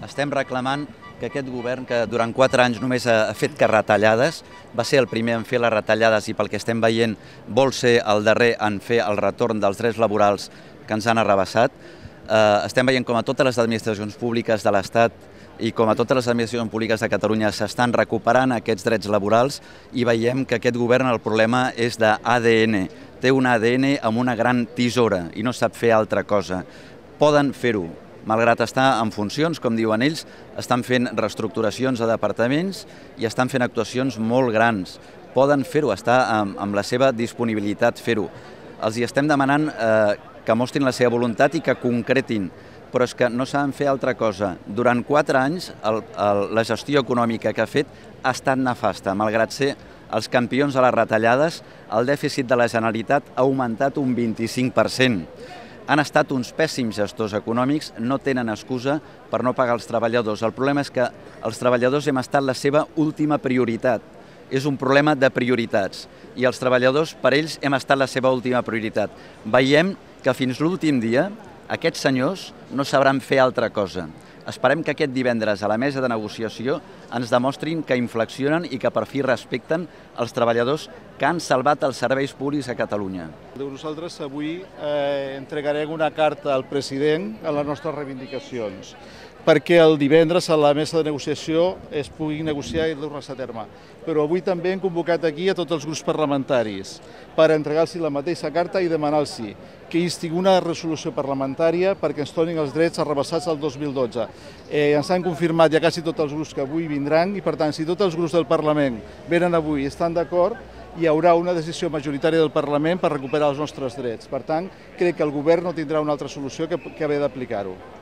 Estem reclamant que aquest govern, que durant 4 anys només ha fet que retallades, va ser el primer en fer les retallades i pel que estem veient vol ser el darrer en fer el retorn dels drets laborals que ens han arrabassat. Estem veient com a totes les administracions públiques de l'Estat i com a totes les administracions públiques de Catalunya s'estan recuperant aquests drets laborals i veiem que aquest govern el problema és d'ADN. Té un ADN amb una gran tisora i no sap fer altra cosa. Poden fer-ho. Malgrat estar en funcions, com diuen ells, estan fent reestructuracions a departaments i estan fent actuacions molt grans. Poden fer-ho, està amb la seva disponibilitat fer-ho. Els hi estem demanant que mostrin la seva voluntat i que concretin, però és que no saben fer altra cosa. Durant 4 anys la gestió econòmica que ha fet ha estat nefasta. Malgrat ser els campions de les retallades, el dèficit de la Generalitat ha augmentat un 25%. Han estat uns pèssims gestors econòmics, no tenen excusa per no pagar els treballadors. El problema és que els treballadors hem estat la seva última prioritat. És un problema de prioritats i els treballadors, per ells, hem estat la seva última prioritat. Veiem que fins l'últim dia aquests senyors no sabran fer altra cosa. Esperem que aquest divendres a la mesa de negociació ens demostrin que inflexionen i que per fi respecten els treballadors que han salvat els serveis públics a Catalunya. Nosaltres avui entregarem una carta al president a les nostres reivindicacions perquè el divendres a la mesa de negociació es pugui negociar i dur-se a terme. Però avui també hem convocat aquí a tots els grups parlamentaris per entregar-los la mateixa carta i demanar-los que instin una resolució parlamentària perquè ens tornin els drets arrabassats al 2012. Ens han confirmat ja quasi tots els grups que avui vindran i, per tant, si tots els grups del Parlament venen avui i estan d'acord, hi haurà una decisió majoritària del Parlament per recuperar els nostres drets. Per tant, crec que el govern no tindrà una altra solució que haver d'aplicar-ho.